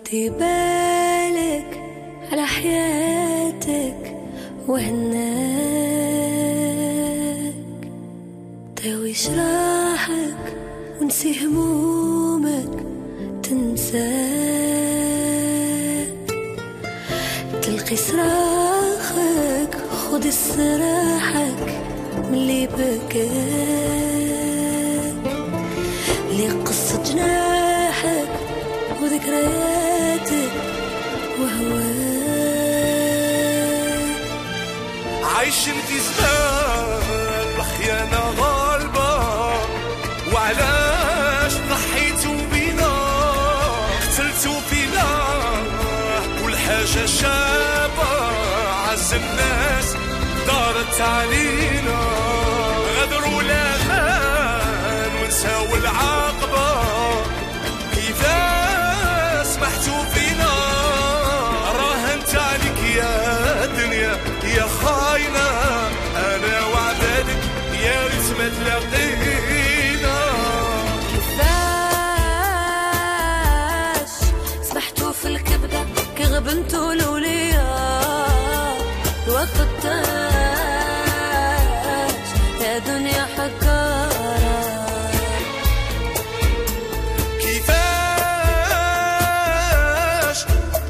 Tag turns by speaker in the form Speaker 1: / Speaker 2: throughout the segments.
Speaker 1: ردي بالك على حياتك وهناك، داوي جراحك ونسي همومك تنساك، تلقي صراخك خذ صراحك ملي بكاك، لي قصة جناحك وذكرياتك وهواك.
Speaker 2: عايشين في زمان الخيانة غالبة، وعلاش ضحيتوا بينا قتلتوا فينا كل حاجة شابة، عز الناس دارت علينا، غدروا الأمان ونساو العاقبة، كيفاش سمحتوا فينا، راهنت عليك يا دنيا يا خاينة، أنا وعدالك يا ريت ما تلاقينا.
Speaker 1: كيفاش سمحتوا في الكبدة كي غبنتوا الأولياء، الوقت تاج يا دنيا حكارة.
Speaker 2: كيفاش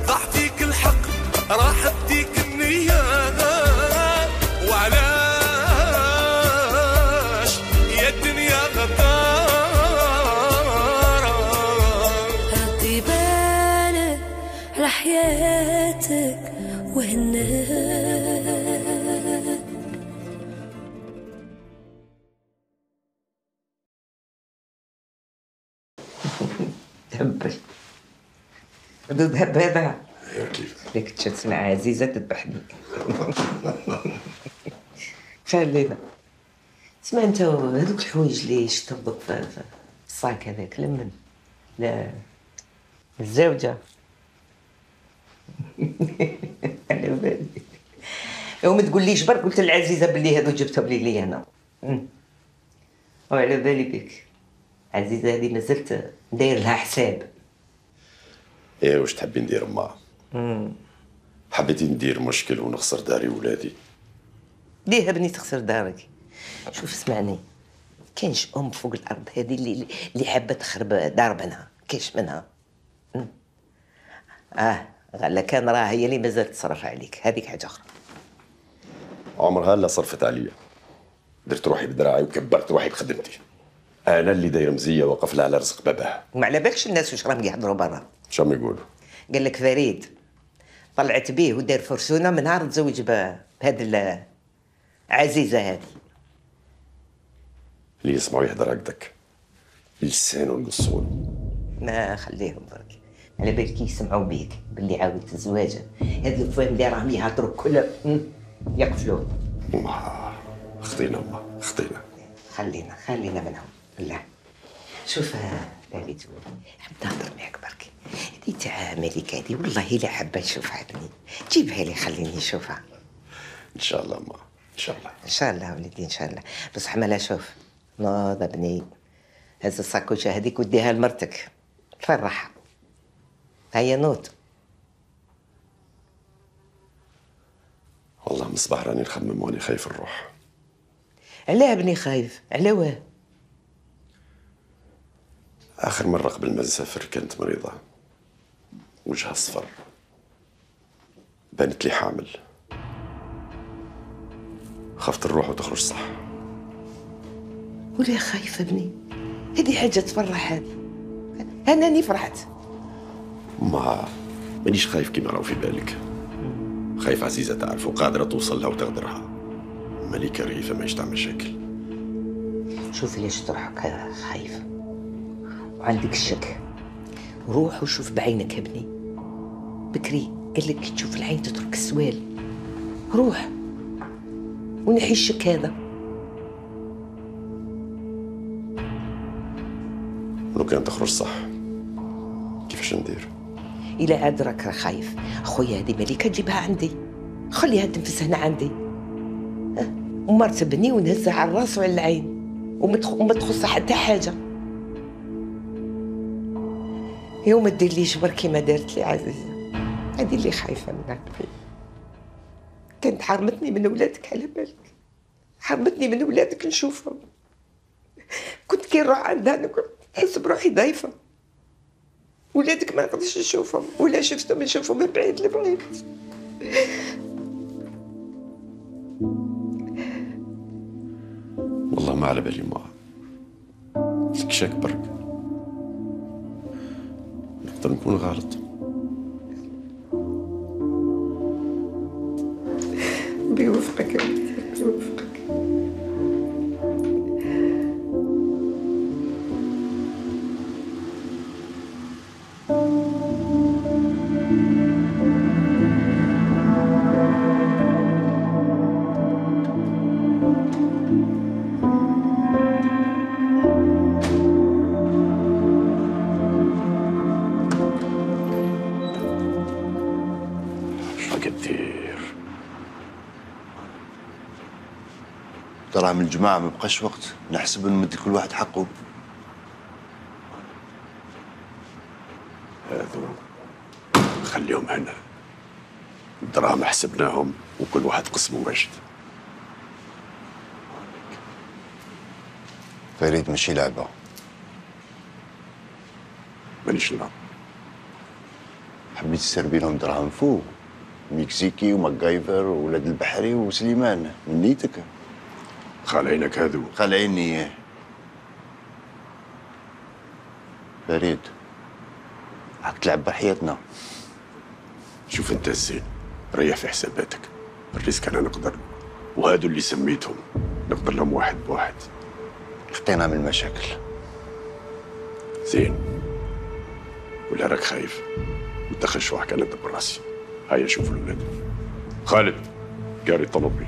Speaker 2: ضاع فيك الحق راحت فيك النية، وعلاش يا الدنيا غدارة.
Speaker 1: ردي بالك على حياتك وهناك.
Speaker 3: تهبل ردود هبابة.
Speaker 4: ايوا كيف
Speaker 3: ليك تشتسمع عزيزة تذبحني. خلينا اسمع انت هذوك الحوايج اللي شطبك في الصاك هذاك لمن لا الزوجة. على بالي وما تقوليش برك قلت للعزيزة باللي هذو جبتهم لي انا. وعلى بالي بك عزيزة هذه مازلت داير لها حساب.
Speaker 4: ايه واش تحبي ندير معها؟ حبيتي ندير مشكل ونخسر داري وولادي؟
Speaker 3: ليه بني تخسر دارك؟ شوف اسمعني، كاينش ام فوق الارض هذه اللي حابه تخرب دار بنها، كاينش منها. غالا كان راه هي اللي مازالت تصرف عليك، هذيك حاجه اخرى.
Speaker 4: عمرها لا صرفت عليا، درت روحي بدراعي وكبرت روحي بخدمتي. انا اللي داير مزيه واقف لها على رزق باباها.
Speaker 3: وما على بالكش الناس واش راهم يهضروا برا؟
Speaker 4: شنو يقولوا؟
Speaker 3: قال لك فريد طلعت بيه ودار فرسونه من نهار تزوج بهذه العزيزه هذه.
Speaker 4: اللي يسمعوا يهضر هكذاك لسانه القصون.
Speaker 3: ما خليهم برك، على بالك يسمعوا بيك باللي عاودت الزواج. هاد الفهم اللي راهم يهضروا كلهم يقفلوا.
Speaker 4: ما خطينا ما خطينا.
Speaker 3: خلينا منهم. لا شوف داليتو حبيت نهضر معاك برك. هذه تاع ملك هذه والله الا حابه نشوفها بني، جيبها لي خليني نشوفها.
Speaker 4: ان شاء الله ما ان شاء الله.
Speaker 3: ان شاء الله وليدي ان شاء الله. بصح مالا شوف نوض بني، هز الساكوشه هذيك وديها لمرتك فرحها. هيا نوض.
Speaker 4: والله من الصباح راني نخمم واني خايف نروح.
Speaker 3: علاه بني خايف؟ على واه؟
Speaker 4: اخر مره قبل ما نسافر كانت مريضه، وجهها صفر، بانت لي حامل، خفت نروح وتخرج صح.
Speaker 3: وليه خايفه بني؟ هذه حاجه تفرح. هذه انني فرحت.
Speaker 4: مانيش خايف كيما راهو في بالك. خايف عزيزه تعرف وقادره توصل لها وتغدرها. ملكه رهيفه ماهيش تعمل مشاكل.
Speaker 3: شوف ليش تروحك خايف وعندك الشك، روح وشوف بعينك يا ابني. بكري قال لك كي تشوف العين تترك السوال. روح ونحي الشك هذا.
Speaker 4: لو كان تخرج صح كيفاش ندير؟
Speaker 3: إلا عاد راك خايف خويا هذه مليكه جيبها عندي، خليها تنفس هنا عندي. ومرت بني ونهزها على الراس وعلى العين وما تخصها حتى حاجه. يوم ما ديرليش بركي ما دارت لي عزيزة، هذه اللي خايفة منها قبل. كانت حرمتني من ولادك على بالك، حرمتني من ولادك نشوفهم. كنت كي نروح عندها نحس بروحي ضعيفة. ولادك ما نقدرش نشوفهم، ولا شفتهم نشوفهم من بعيد لبعيد.
Speaker 4: والله ما على بالي ما فيك شك برك، نقدر نكون غلط.
Speaker 3: بيوفقك يا ولدي، بيوفقك.
Speaker 5: ترى من الجماعة ما بقاش وقت، نحسب نمد كل واحد حقه.
Speaker 4: هذو خليهم هنا، الدراهم حسبناهم وكل واحد قسمه واجد.
Speaker 5: فريد ماشي لعبة.
Speaker 4: مانيش نلعب.
Speaker 5: حبيت تسربي لهم دراهم فوق، مكسيكي وماكايفر وولاد البحري وسليمان من نيتك.
Speaker 4: خالعينك هذو.
Speaker 5: خالعيني اياه. فريد راك تلعب بحياتنا.
Speaker 4: شوف انت الزين، ريح في حساباتك، الريسك انا نقدر، وهادو اللي سميتهم نقدر لهم واحد بواحد.
Speaker 5: خطينا من المشاكل.
Speaker 4: زين، ولا راك خايف؟ ودخل شوحك انا ندبر راسي. هيا شوف الولاد. خالد قاري الطوموبيل.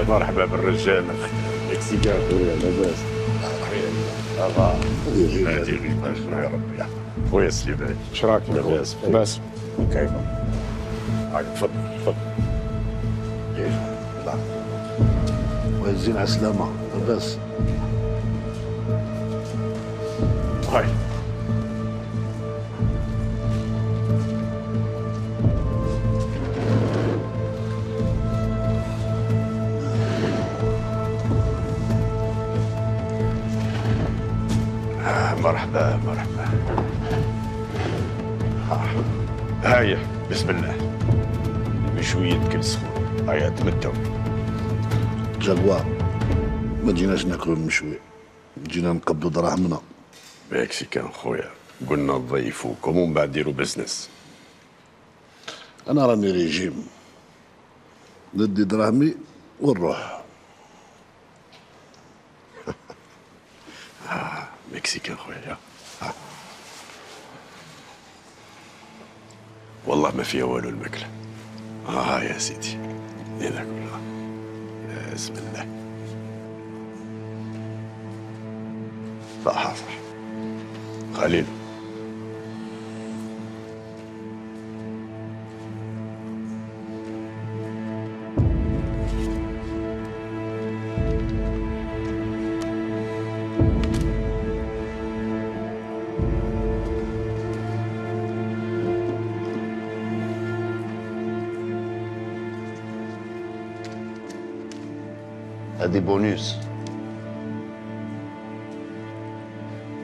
Speaker 4: مرحبا بالرجال. اكسيكار خويا لاباس. هادي غير يا ربي. خويا سليمان اش راك؟ لاباس لاباس كيف؟ هاك تفضل تفضل. كيف؟ لا
Speaker 6: وزين على السلامة لاباس.
Speaker 4: هاي مرحبا مرحبا. هاي بسم الله. المشوية كل سخون. هاي تمتعوا.
Speaker 6: جاكوار ما جيناش ناكلوا المشوي، جينا نقبضوا دراهمنا.
Speaker 4: مكسيكان خويا، قلنا نضيفوكم ومن بعد ديروا بزنس.
Speaker 6: انا راني ريجيم، ندي دراهمي ونروح.
Speaker 4: مكسيكان خويا. والله ما فيها والو الماكله. يا سيدي هنا كلها. بسم الله. صح صح. خليل
Speaker 5: هادي بونوس.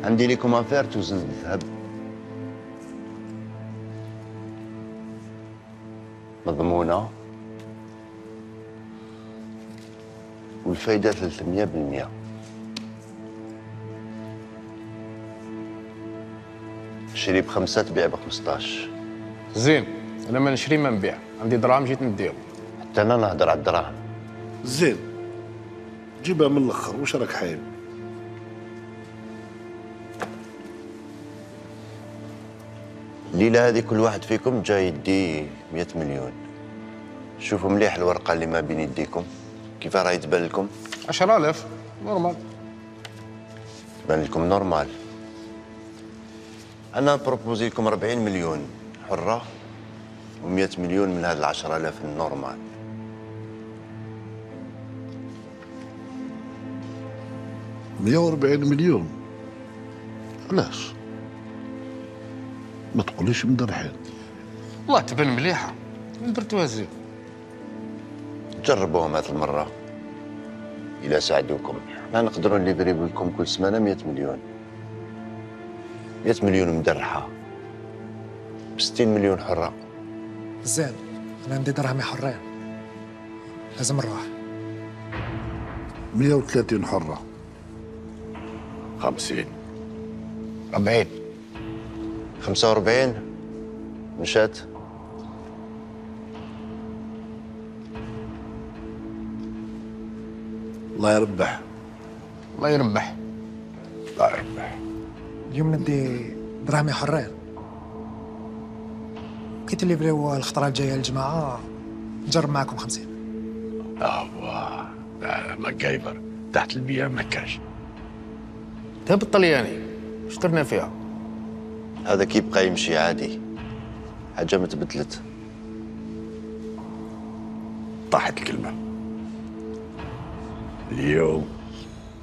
Speaker 5: عندي ليكم افير توزن الذهب. مضمونة والفايدة 300%. شري ب5 تبيع ب15.
Speaker 7: زين، انا ما نشري ما نبيع، عندي دراهم جيت نديهم.
Speaker 5: حتى انا نهضر على الدراهم.
Speaker 6: زين جيبها من الاخر، واش راك حايب؟
Speaker 5: الليلة هذه كل واحد فيكم جاي يدي 100 مليون. شوفوا مليح الورقة اللي ما بين يديكم، كيف راهي تبان لكم؟
Speaker 7: 10,000 نورمال.
Speaker 5: تبان لكم نورمال. أنا بروبوزي لكم 40 مليون حرة و100 مليون من هذه 10,000 النورمال.
Speaker 6: ب 140 مليون. علاش؟ ما تقوليش مدرحين.
Speaker 7: والله تبان مليحه، درتوها زين.
Speaker 5: جربوهم هذه المرة إلا ساعدوكم. احنا نقدروا نليفريو لكم كل سمانة 100 مليون. 100 مليون مدرحة ب 60 مليون حرة.
Speaker 8: زين، أنا عندي درهمي حرين، لازم نروح.
Speaker 6: 130 حرة.
Speaker 4: 50.
Speaker 7: 40.
Speaker 5: 45 مشات.
Speaker 6: الله يربح.
Speaker 7: الله يربح.
Speaker 4: لا يربح.
Speaker 8: اليوم ندي درهمي حرين، كي تليفريو الخطرة الجاية الجماعة نجرب معاكم 50.
Speaker 4: واه لا ماكايفر تحت البيئة ما كاش.
Speaker 7: ذهب الطلياني اشترنا فيها.
Speaker 5: هذا كيبقى يمشي عادي، حاجة ما تبدلت.
Speaker 4: طاحت الكلمة. اليوم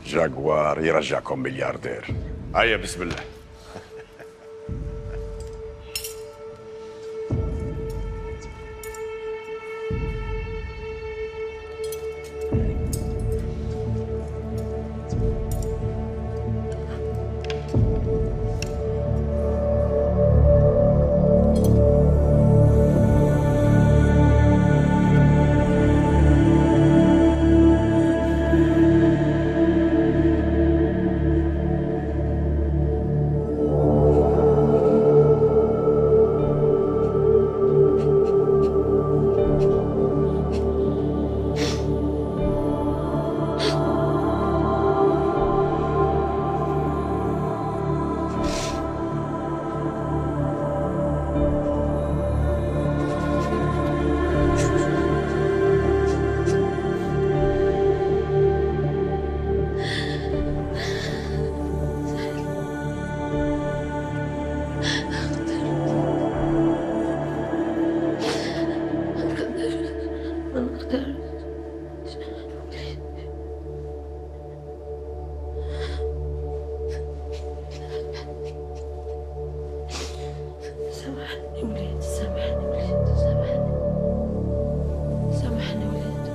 Speaker 4: جاكوار يرجعكم ملياردير. هيا بسم الله.
Speaker 1: سامحني وليدي، سامحني وليدي، سامحني. سامحني وليدي.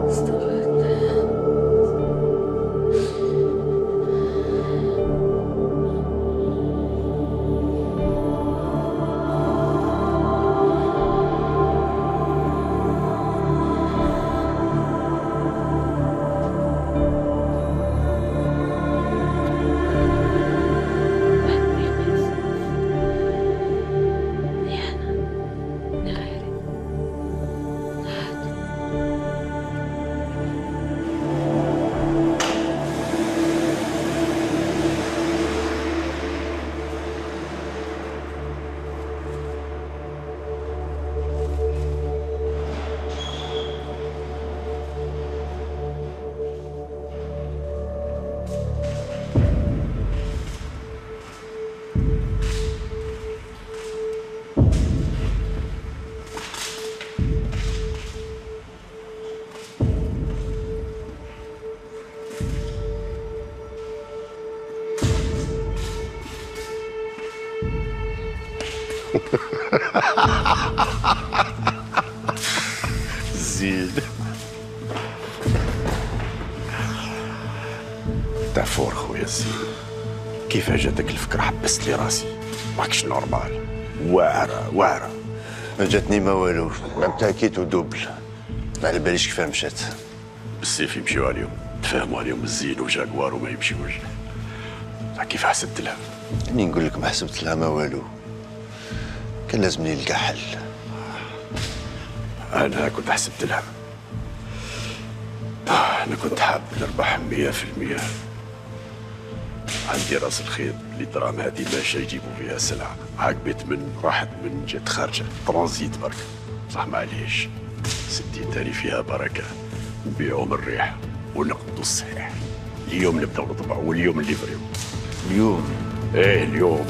Speaker 1: استغفر الله.
Speaker 4: زين. كارفور خويا الزين. كيف جاتك الفكرة حبست لي راسي؟ ماكش نورمال. واعرة.
Speaker 5: ما جاتني ما والو، لعبتها كيتو دوبل. ما على باليش كيفاه مشات.
Speaker 4: بالسيف يمشيو عليهم، تفاهموا عليهم الزين وجاكوار وما يمشيوش. كيف حسبت لها؟
Speaker 5: اني نقول لك ما حسبت لها ما والو. كان لازمني نلقى حل.
Speaker 4: أنا كنت حسبت لها. أنا كنت حاب نربح 100%. عندي راس الخيط اللي دراهم هذه ماشي يجيبوا فيها سلعة. عقبت من راحت من جات خارجة ترانزيت برك. صح معليش. 60 تاني فيها بركة. نبيعوا من الريح ونقبضوا الصحيح. اليوم نبداو نطبعوا واليوم نليفريو.
Speaker 5: اليوم؟
Speaker 4: ايه اليوم.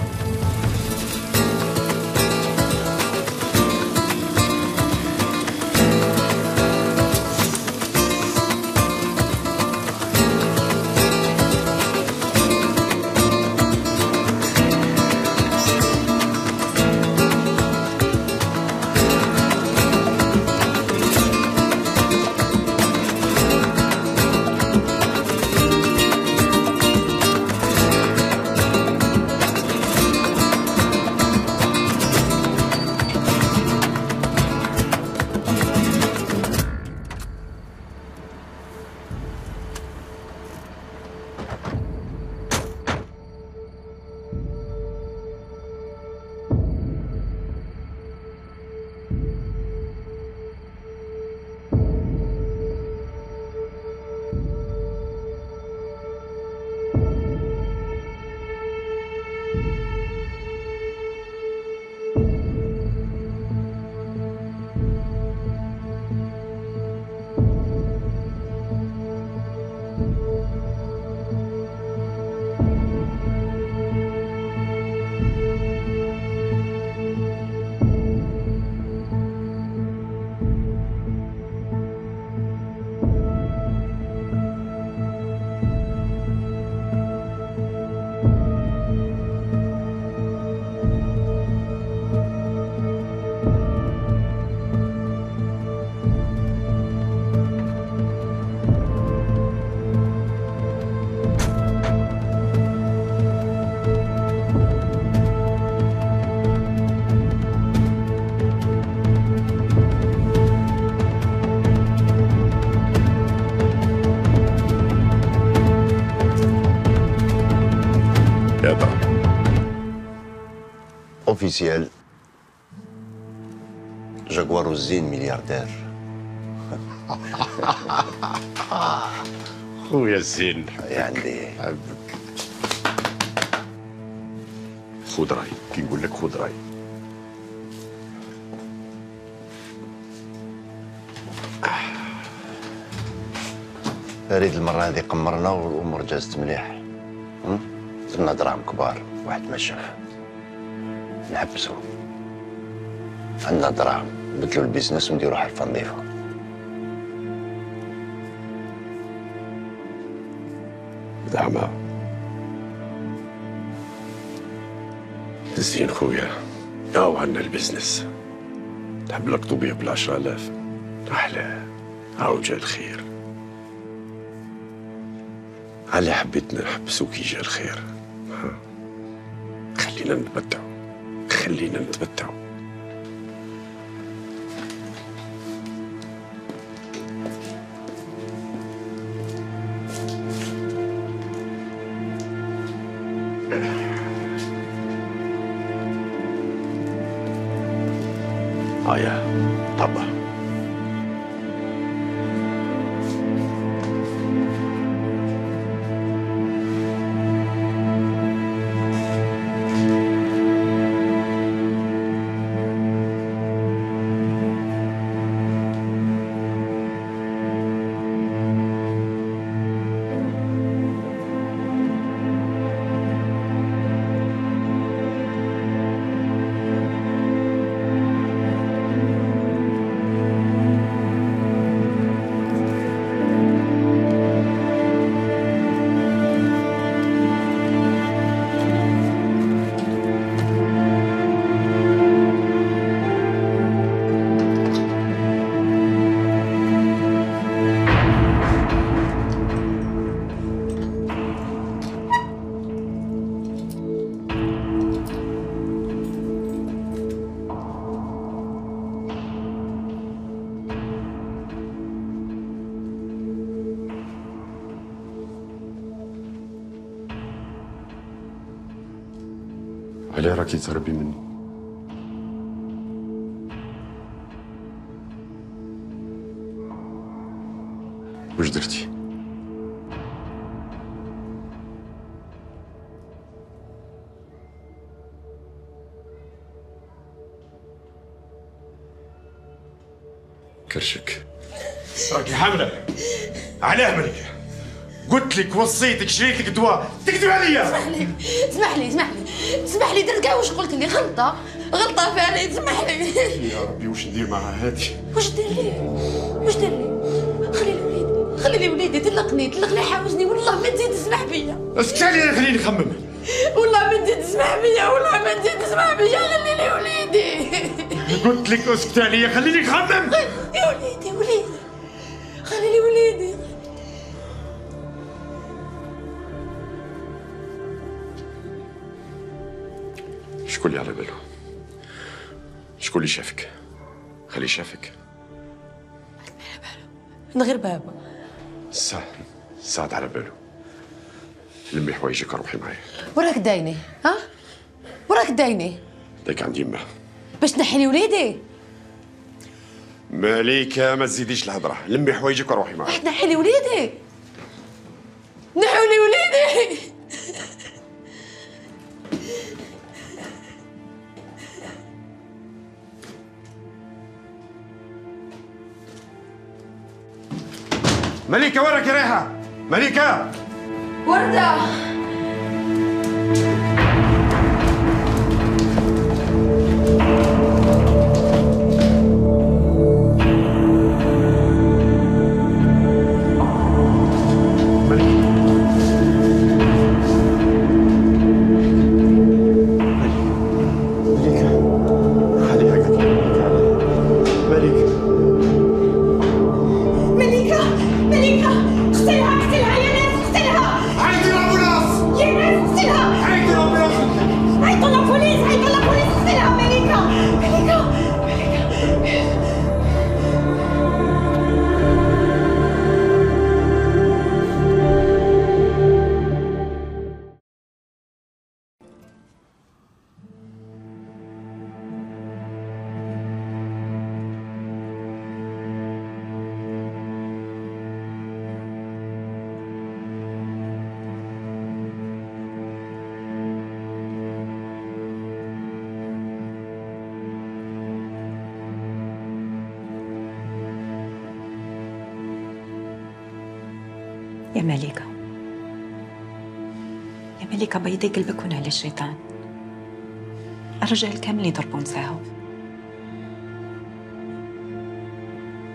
Speaker 5: اوفيسيال جاكوار الزين ملياردير.
Speaker 4: خويا الزين
Speaker 5: عندي
Speaker 4: حبك. خذ راي، كي نقول لك خذ راي.
Speaker 5: فريد المرة هذه قمرنا والأمور جازت مليح. درنا دراهم كبار، واحد ما شاف. نحبسو. عندنا دراهم، نبدلو البيزنس ونديرو حرفة نظيفة.
Speaker 4: زعما زين خويا، هاو عندنا البزنس. نحب لك طبيب ب10,000 أحلى. هاو جا الخير. على حبيت نحبسو كي جا الخير. خلينا نتمتعو، خلينا نتمتعو. هيا طبعا. علاه راكي تهربي مني؟ واش درتي؟ كرشك.
Speaker 6: راكي حامله. علاه ملكه؟ قلت لك وصيتك شريت لك دواء تكذب عليا.
Speaker 1: اسمح لي درت كاع واش قلت لي. غلطه فعلا. اسمح لي.
Speaker 6: يا ربي واش ندير مع هادي؟
Speaker 1: واش دير لي؟ خلي لي وليدي. طلقني حاوجني. والله ما تزيد تسمح بيا.
Speaker 6: اسكت عليا خليني نخمم.
Speaker 1: والله ما تزيد تسمح بيا. خلي لي وليدي.
Speaker 6: قلت لك اسكت عليا خليني نخمم.
Speaker 1: يا وليدي خلي لي وليدي.
Speaker 4: شكون اللي على باله؟ شكون اللي شافك؟ خليه شافك.
Speaker 1: من غير بابا.
Speaker 4: سعد على باله. لمي حوايجك روحي معايا.
Speaker 1: وراك دايني؟ ها؟
Speaker 4: داك عندي يما.
Speaker 1: باش تنحي لي وليدي؟
Speaker 4: ماليكا ما تزيديش الهضره. لمي حوايجك وروحي معايا.
Speaker 1: باش تنحي لي وليدي؟ نحوا لي وليدي.
Speaker 6: مليكه وين راكي رايحه؟ مليكه
Speaker 1: وردة.
Speaker 9: يا مليكة بيضي قلبك على الشيطان. الرجال كامل يضربون ساهو.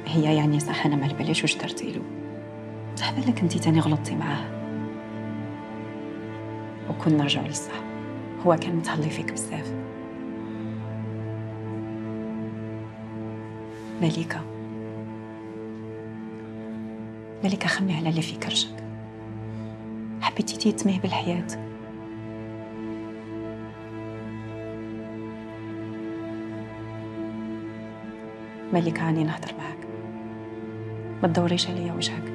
Speaker 9: هي يعني صح انا ما باليش واش درتي له. صح بالك انتي تاني غلطتي معاه وكنا نرجعوا للصح. هو كان متهلي فيك بزاف. مليكة خمي على اللي في كرشك. حبيتي تيتميه بالحياة. مليكة عاني نهضر معاك. ما تدوريش عليا وجهك.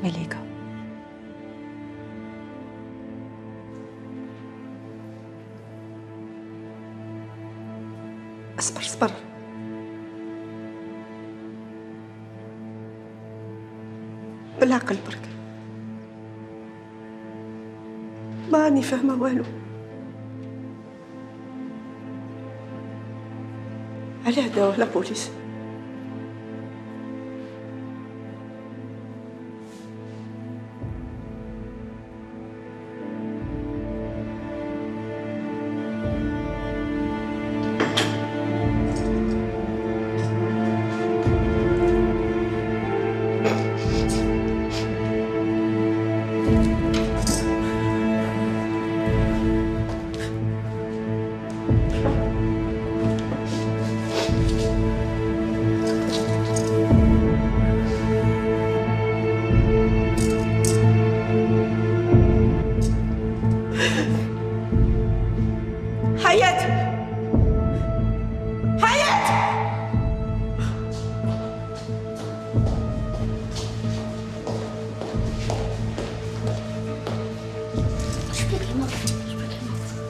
Speaker 9: مليكة
Speaker 10: اصبر بالعقل برك. ما راني فاهمه والو. علاه داوه لا بوليس؟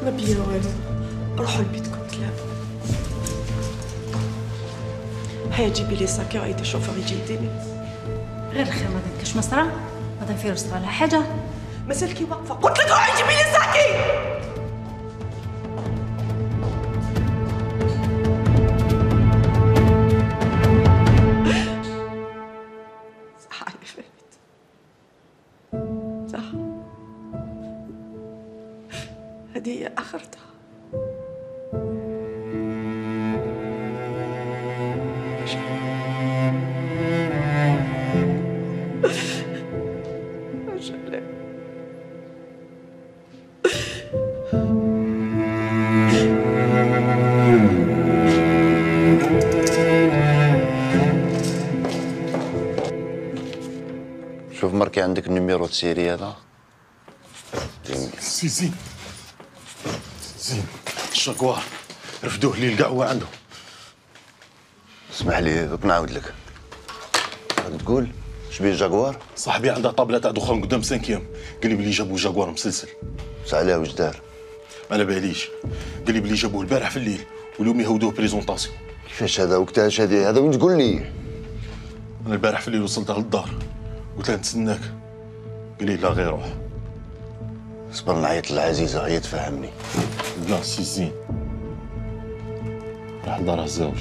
Speaker 10: ما بيا والو، روحوا لبيتكم تلاقوا. هيا جيبي لي ساكي وعيطي الشوفور يجي يديني.
Speaker 11: غير الخير ما كاش مصرا، مادام فيروز صرا لها حاجه.
Speaker 10: مازالكي واقفه، قلت لك روحي جيبي لي ساكي. هذه هي آخرتها.
Speaker 5: شوف مركي عندك النيميرو السيري هذا.
Speaker 6: سي زين الشاكوار رفدوه لي القهوة عنده.
Speaker 5: اسمح لي دوك نعاود لك. راك تقول شبيه جاكوار؟
Speaker 6: صاحبي عنده طابلة تاع دخان قدام 5 ايام، قال لي بلي جابوا جاكوار مسلسل.
Speaker 5: علاه واش دار؟
Speaker 6: ما على باليش، قال لي بلي جابوه البارح في الليل واليوم يهودوه بريزونطاسيون.
Speaker 5: كيفاش هذا وقتاش هذا وين تقول لي؟
Speaker 6: انا البارح في الليل وصلت للدار قلت له نتسناك، قال لي لا غير روح.
Speaker 5: صبر نعيط للعزيزة هي تفهمني.
Speaker 6: لا سي زين راح لدار الزوج.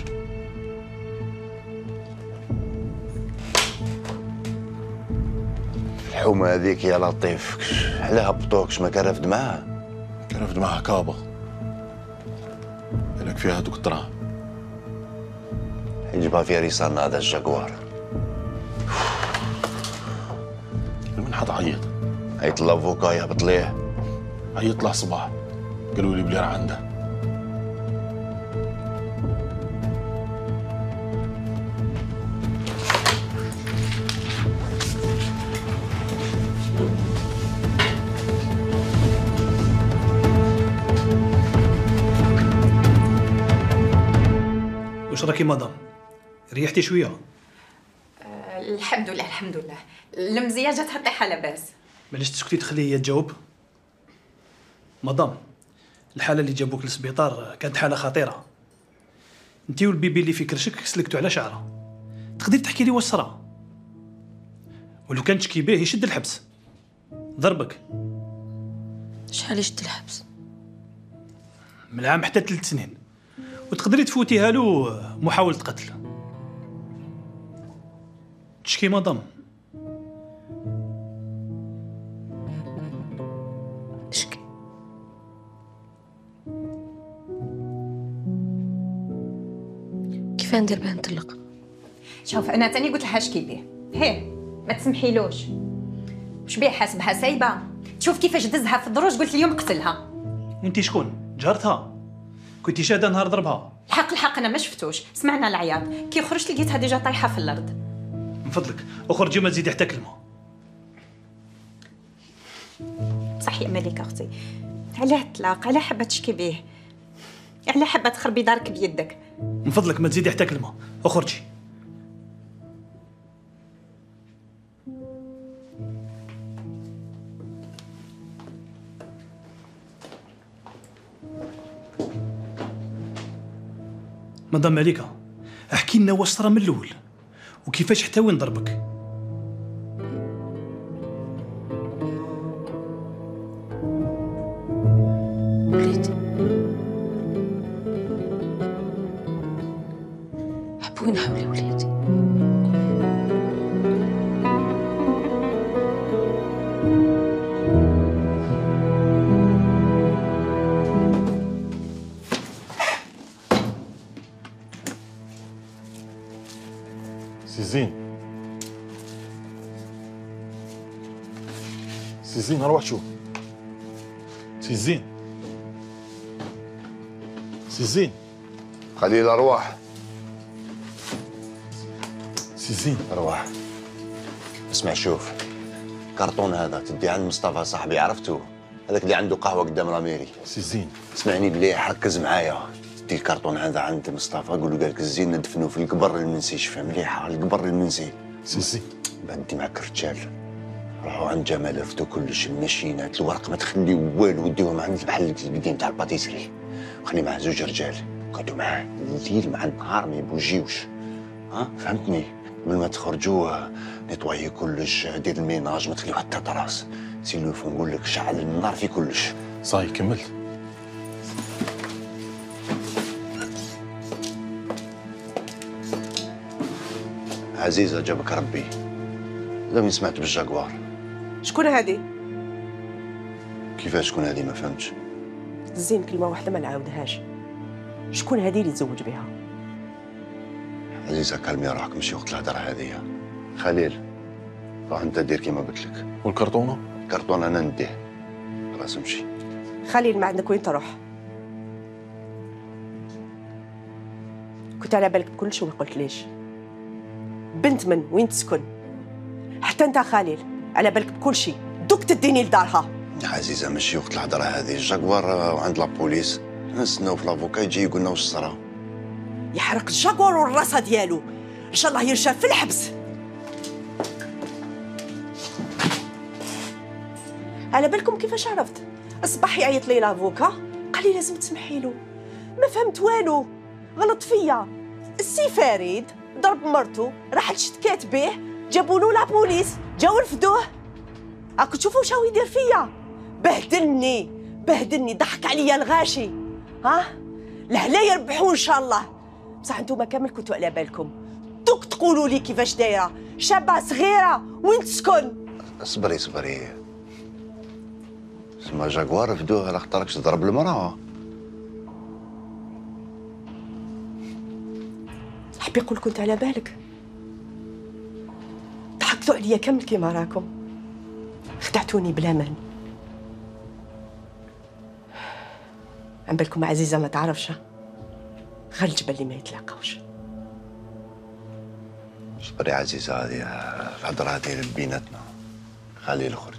Speaker 5: الحومة هذيك يا لطيف علاه هبطوكش ما كان رافد معاه؟
Speaker 6: كان رافد معاه كابا. بالك فيها هذوك الدراهم.
Speaker 5: يجيبها في ريسان هذا الجاكوار.
Speaker 6: من حد عيط؟
Speaker 5: عيط لافوكا يهبط ليه.
Speaker 6: عيط له صباح قالوا لي بلي راه عنده.
Speaker 12: واش راكي مدام؟ ريحتي شويه؟
Speaker 9: الحمد لله الحمد لله، المزيه جاتها طيحه لاباس.
Speaker 12: معليش تسكتي تخلي هي تجاوب. مدام، الحاله اللي جابوك للسبيطار كانت حاله خطيره. انت والبيبي اللي في كرشك سلكتوا على شعره. تقدري تحكي لي واش صرا؟ ولو كان تشكي به يشد الحبس. ضربك.
Speaker 1: شحال يشد الحبس؟
Speaker 12: من عام حتى 3 سنين. وتقدري تفوتيها له محاولة قتل. تشكي مدام؟
Speaker 1: شكي. كيف ندير باه نطلق؟
Speaker 9: شوف انا تاني قلت لها شكي بيه، هيه ما تسمحيلوش. واش بيه حاسبها سايبه؟ تشوف كيفاش دزها في الدروج، قلت اليوم قتلها.
Speaker 12: وانتي شكون؟ جارتها؟ كنتي شاهده نهار ضربها؟
Speaker 9: الحق انا ما شفتوش، سمعنا العياط، كي خرجت لقيتها ديجا طايحه في الارض.
Speaker 12: من فضلك اخرجي ما تزيدي حتى كلمه.
Speaker 9: صح يا مليكه اختي، علاه الطلاق؟ علاه حابه تشكي بيه؟ علاه حابه تخربي دارك بيدك؟
Speaker 12: من فضلك ما تزيدي حتى كلمه، اخرجي. مدام مليكه، احكي لنا واش صرا من الاول وكيفاش حتى وين ضربك.
Speaker 1: وليدي حبوني حولي وليدي.
Speaker 6: سي زين روح شوف. سي زين
Speaker 5: خليه الارواح.
Speaker 6: سي زين
Speaker 5: ارواح. اسمع شوف، كرتون هذا تدي عند مصطفى صاحبي، عرفتو هذاك اللي عنده قهوه قدام الاميري.
Speaker 6: سي زين
Speaker 5: اسمعني مليح، ركز معايا. تدي الكرتون هذا عند مصطفى، قول له قالك الزين ندفنوه في القبر المنسي. شفا مليحه القبر المنسي.
Speaker 6: سي زين
Speaker 5: بعد دي معك الرجال، روحوا عند جمال رفدوا كلش، الماشينات، الورق، ما تخليو والو، وديوهم عند المحل القديم تاع الباتيسري، وخلي معاه 2 رجال قعدوا معاه الليل مع النهار ما يبوجيوش. فهمتني؟ قبل ما تخرجوا نيطوايي كلش، دير الميناج، ما تخليو حتى طراس. سيلوفو نقول لك شعل النار في كلش.
Speaker 6: صاي كملت.
Speaker 5: عزيزة جابك ربي. لم سمعت بالجاكوار.
Speaker 10: شكون هادي؟
Speaker 5: كيفاش شكون هادي؟ ما فهمتش.
Speaker 10: زين كلمة واحدة ما نعاودهاش. شكون هادي اللي تزوج بها؟
Speaker 5: عزيزة كلمي روحك، ماشي وقت الهضرة هذه. خليل روح انت دير كيما قلت لك.
Speaker 6: والكرتونة؟
Speaker 5: الكرتونة انا نديه. خلاص امشي.
Speaker 10: خليل ما عندك وين تروح؟ كنت على بالك بكل شيء وما قلت ليش. بنت من وين تسكن؟ حتى انت خليل على بالك بكل شيء، دوك تديني لدارها.
Speaker 5: عزيزة ماشي وقت الهضرة هذه، الجاكوار وعند لابوليس، نستناو في لافوكا يجي يقول لنا واش صرا.
Speaker 10: يحرق الجاكوار والراسة ديالو، ان شاء الله يرشف في الحبس. على بالكم كيفاش عرفت؟ اصبح يعيط لي لافوكا قال لي لازم تسمحي له. ما فهمت والو، غلط فيا. السي فريد ضرب مرته، راحت شتكات به، جابوا له لابوليس، جاو رفدوه. راكم تشوفوا واش هو يدير فيا؟ بهدلني، ضحك عليا الغاشي. لهلا يربحوا ان شاء الله. بصح انتوما كامل كنتوا على بالكم، دوك تقولوا لي كيفاش دايره شابه صغيره وين تسكن.
Speaker 5: اصبري سما جاكوار رفدوه على خاطركش تضرب المراه.
Speaker 10: حبي يقول كنت على بالك. ضحكتوا عليا كامل كيما راكم، خدعتوني بلا مان. عن بالكم عزيزه ما تعرفش، غير الجبل اللي ما يتلاقاوش.
Speaker 5: صبري عزيزة، هذه الهضرة هذه بيناتنا، خليه يخرج.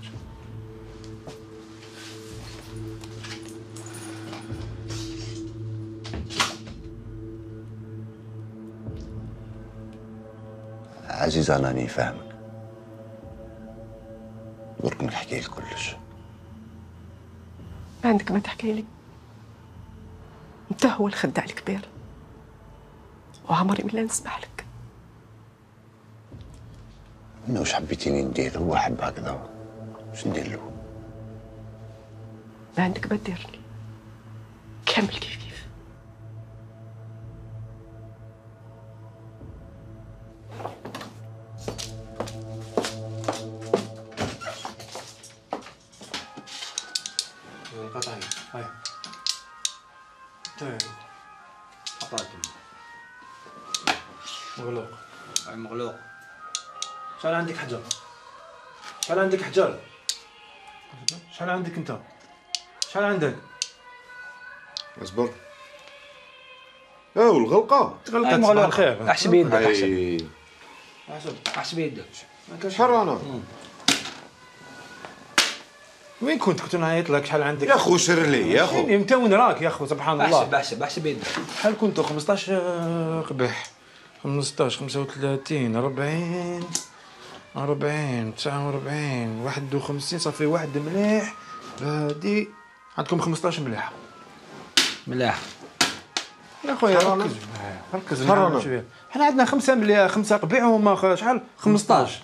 Speaker 5: عزيزة أنا راني فاهمك، درك نحكي لك كلش.
Speaker 10: ما عندك ما تحكي لي، انت هو الخداع الكبير وعمري ما نسمح لك.
Speaker 5: انا واش حبيتيني ندير؟ هو حب هكذا، واش ندير له؟
Speaker 10: ما عندك ما دير لي، كامل كيف.
Speaker 12: قطعي هاي طيب
Speaker 13: قطعتم
Speaker 12: مغلوق.
Speaker 13: هاي مغلوق.
Speaker 12: شحال عندك حجر؟ شحال عندك حجر؟ شحال عندك انت؟ شحال عندك؟
Speaker 6: اصبر. والغلقه
Speaker 12: غلقت صباح الخير.
Speaker 13: احسب يدك،
Speaker 12: احسب
Speaker 13: يدك.
Speaker 6: شحال انا؟
Speaker 12: وين كنت نعيط لك؟ شحال عندك؟
Speaker 6: يا خو سر لي يا خو.
Speaker 12: انت وين راك يا خو؟ سبحان الله.
Speaker 13: احسب يدك.
Speaker 12: شحال كنتو؟ 15 قبح، 15 35 40 49 51 صافي واحد مليح. هادي عندكم 15 مليحه.
Speaker 13: ملاح
Speaker 12: يا خويا ركز معايا شويه. حنا عندنا 5 مليح، 5 قبيع وهما شحال؟ 15.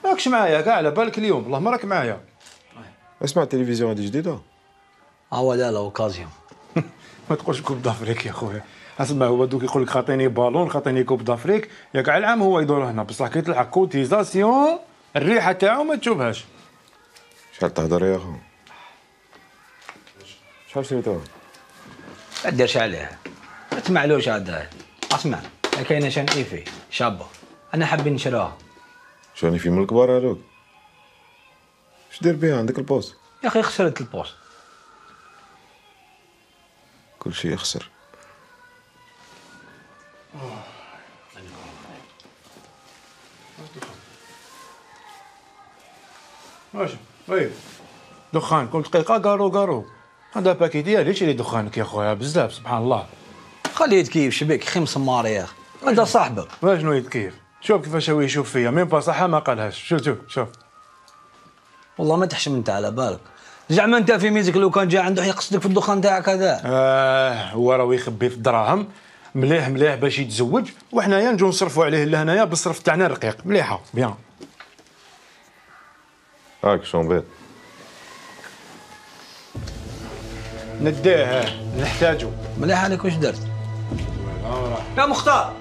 Speaker 12: ماكش معايا كاع على بالك اليوم، والله ما راك معايا.
Speaker 6: اسمع التلفزيون هذه جديده؟
Speaker 13: لا اوكازيون.
Speaker 12: ما تقولش كوب دافريك يا خويا. اسمع هو دوك يقول لك خاطيني بالون، خاطيني كوب دافريك، يا كاع العام هو يدور هنا، بصح كي تلحق كوتيزاسيون الريحه تاعو ما تشوفهاش.
Speaker 6: شحال تهضر يا خو؟ شحال شريتوها؟
Speaker 13: ما ديرش عليها، ما تسمعلوش هذا. اسمع كاينه شان ايفي شابه، انا حابين نشروها.
Speaker 6: شاني في من الكبار هذوك؟ اش دير بها؟ عندك البوست؟
Speaker 13: يا اخي خسرت البوست.
Speaker 6: كل شيء يخسر.
Speaker 12: ماشي وي دخان كل دقيقه قارو هذا باكي ديالي. ليش اللي دخانك يا خويا بزاف سبحان الله.
Speaker 13: خليه يتكيف شبيك خي مسمار يا اخي، هذا صاحبك.
Speaker 12: شنو يتكيف؟
Speaker 6: شوف كيفاش هو يشوف فيا، ميم با صح ما قالهاش. شوف
Speaker 13: والله ما تحشم انت على بالك. زعما انت في ميزك لو كان جا عنده يقصدك في الدخان تاعك هذا.
Speaker 6: هو راه يخبي في الدراهم مليح باش يتزوج، وحنايا نجو نصرفوا عليه لهنايا بالصرف تاعنا الرقيق. مليحه بيان.
Speaker 14: هاك شومبيط
Speaker 6: نديه نحتاجو.
Speaker 13: مليح عليك. واش درت؟ يا مختار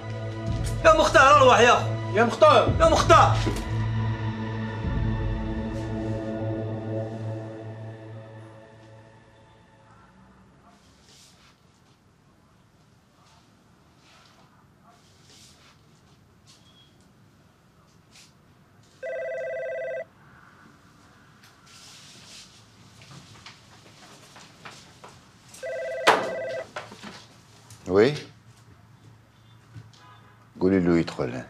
Speaker 13: اروح يا اخو.
Speaker 6: يا مختار
Speaker 5: وي قولي له يدخل.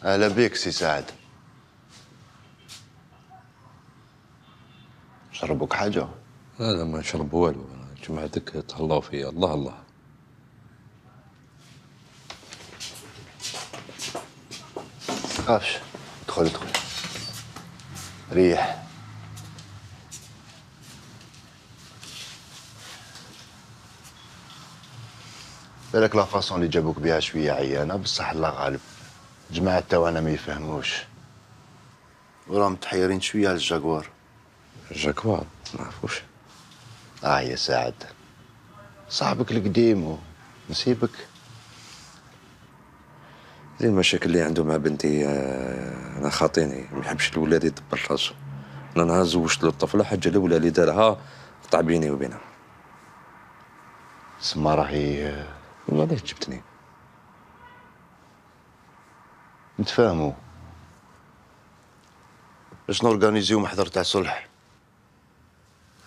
Speaker 5: اهلا بك سي سعد. شربوك حاجه؟
Speaker 14: لا ما نشرب والو، جمعتك تهلاو فيا. الله
Speaker 5: تخافش، ادخل ريح. بالك لا فاصون اللي جابوك بها شويه عيانه، بصح الله غالب. جماعة تاعنا ما يفهموش وراهم متحيرين شويه على الجاكوار.
Speaker 14: الجاكوار ما نعرفوش.
Speaker 5: يا سعد صاحبك القديم ونسيبك.
Speaker 14: زين المشاكل اللي عنده مع بنتي انا خاطيني، ما يحبش الولاد يدبر راسو. انا نهار زوجت له الطفله، حاجه الاولى اللي دارها قطع بيني وبينها.
Speaker 5: سما راهي
Speaker 14: والله جبتني.
Speaker 5: نتفاهموا باش نورغانيزيو محضر تاع صلح.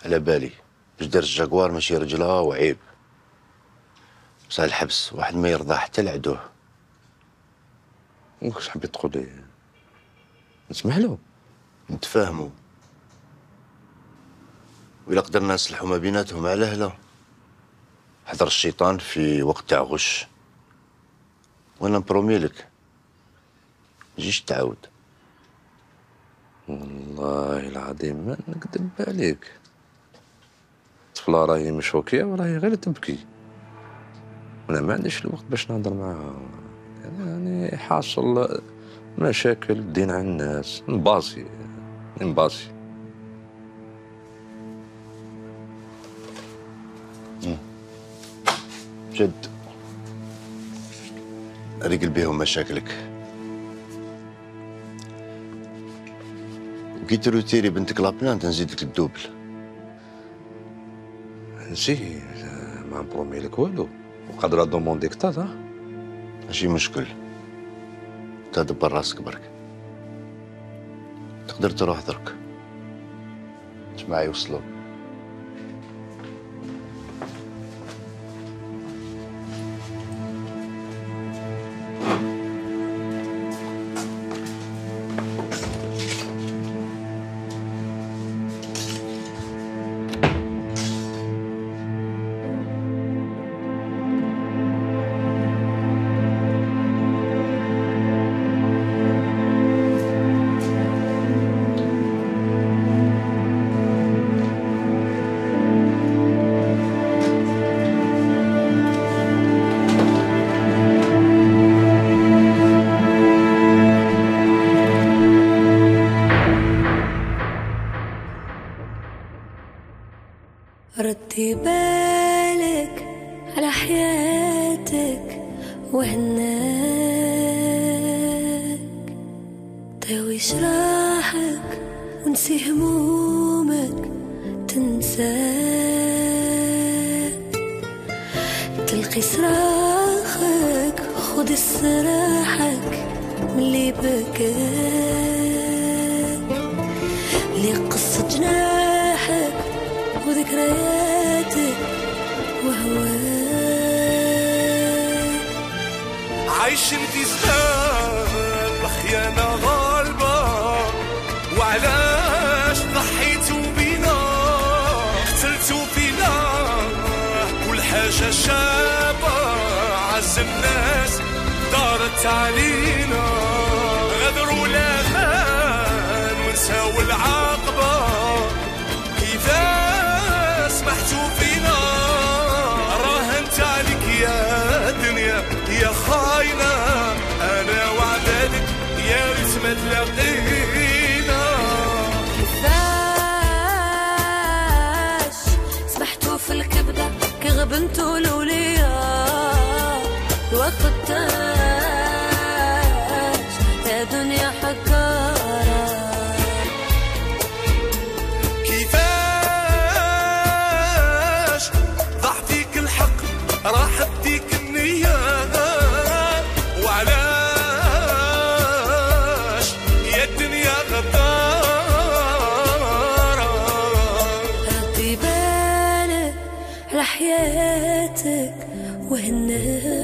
Speaker 5: على بالي باش دار الجاكوار ماشي رجلها وعيب، بصح الحبس واحد ما يرضى حتى العدو.
Speaker 14: واش حبيت تقول لي؟ نسمح له.
Speaker 5: نتفاهموا وإلا قدرنا نصلحوا ما بيناتهم على هلا. حضر الشيطان في وقت تاع غش، وانا نبرومي لك مجيش تعاود.
Speaker 14: والله العظيم ما نكذب عليك، الطفله راهي مشوكيه وراهي غير تبكي، انا ما عنديش الوقت باش نهضر معاها. يعني حاصل مشاكل دين على الناس، نباصي
Speaker 5: جد ريقل بيهم مشاكلك. وكي تروتيري بنتك لابلان تنزيدك الدوبل.
Speaker 14: نسي ما نبرومي لك والو، وقادرة دومونديك تاتا.
Speaker 5: ماشي مشكل، تدبر راسك برك. تقدر تروح درك. جماعة يوصلوا.
Speaker 15: ردي بالك على حياتك وهناك، داوي جراحك ونسي همومك تنساك، تلقي صراخك خذ استراحك ملي بكاك، لي قصة جناحك وذكرياتك وهواك،
Speaker 2: عايشين في زمان الخيانة غالبة، وعلاش حاجة شابة عز الناس دارت علينا غدر ولا مان ونساو العاقبة إذا سمحتوا فينا راهنت عليك يا دنيا يا خاينة أنا وعدالك يا ريت ما تلاقينا
Speaker 15: كيفاش سمحتوا في الكبدة كي غبنتوا الأولياء الوقت تاج يا دنيا حكارة
Speaker 2: كيفاش ضعتيك الحق راح بديك النية وعلاش يا الدنيا غدارة
Speaker 15: ردي بالك على حياتك وهنا